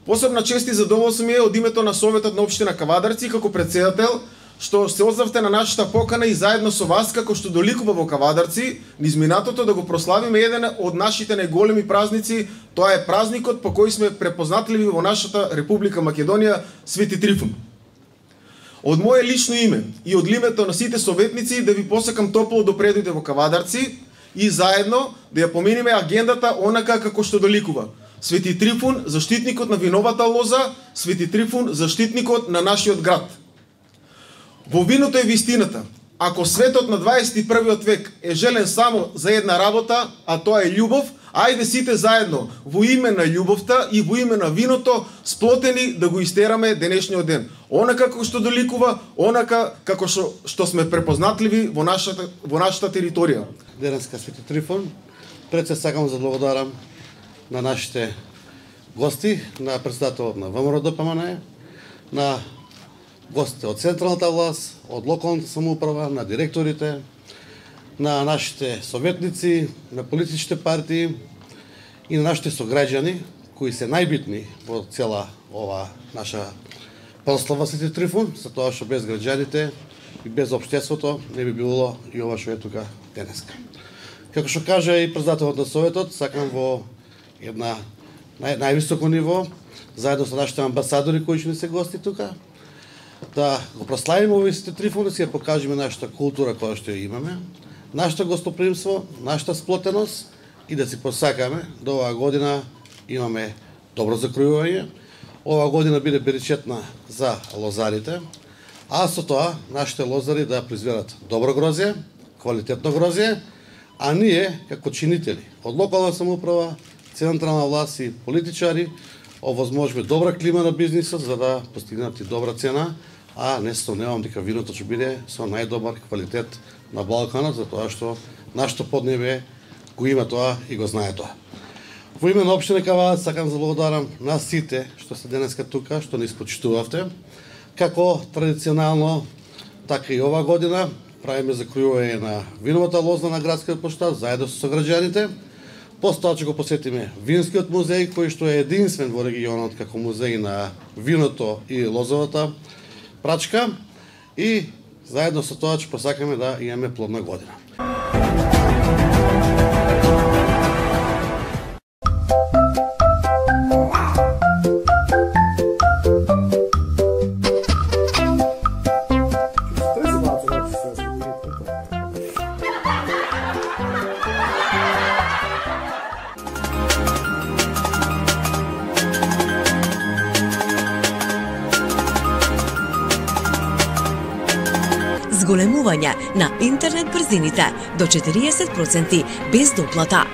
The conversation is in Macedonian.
Посебна чест и задоволство ми е од името на Советот на општина Кавадарци како председател што се озвавте на нашата покана и заедно со вас како што доликува во Кавадарци низ минатото да го прославиме еден од нашите најголеми празници. Тоа е празникот по кој сме препознатливи во нашата Република Македонија, Свети Трифун. Од мое лично име и од името на сите советници да ви посакам топло да предојдете во Кавадарци и заедно да ја поминиме агендата онака како што доликува. Свети Трифун, заштитникот на виновата лоза, Свети Трифун, заштитникот на нашиот град. Во виното е вистината. Ако светот на 21 век е желен само за една работа, а тоа е љубов, ајде сите заедно во име на љубовта и во име на виното сплотени да го истераме денешниот ден. Онака како што доликува, онака како што сме препознатливи во нашата територија. Денеска Свети Трифун, пред се сакам да благодарам на нашите гости, на председателот на ВМРО-ДПМН, на гостите од централната власт, од локалната самоуправа, на директорите, на нашите советници, на политичките партии и на нашите сограѓани, кои се најбитни во цела ова наша прослава Свети Трифун, за тоа што без граѓаните и без општеството не би било и ова што е тука денеска. Како што кажа и председателот на Советот, сакам во една највисоко ниво, заедно со нашите амбасадори кои ќе ни се гости тука, да го прославиме овој Свети Трифун, да си ја покажеме нашата култура која што ја имаме, нашето гостопримство, нашата сплотеност и да си посакаме да оваа година имаме добро закројување, оваа година биде беричетна за лозарите, а со тоа нашите лозари да произведат добро грозје, квалитетно грозје, а ние како чинители од локална самоуправа, централна власт и политичари овозможиме добра клима на бизнисот за да постигнат и добра цена, а не сомневам дека виното ќе биде со најдобар квалитет на Балканот, затоа што нашето поднебе го има тоа и го знае тоа. Во име на општина Кавадарци сакам да благодарам на сите што се денеска тука, што ни испочитувавте. Како традиционално, така и ова година правиме закројување на виновата лоза на градскиот площад заедно со сограѓаните. После ќе го посетиме винскиот музеј, кој што е единствен во регионот како музеј на виното и лозовата прачка, и заедно со тоа ќе посакаме да имаме плодна година. Зголемување на интернет брзините до 40% без доплата.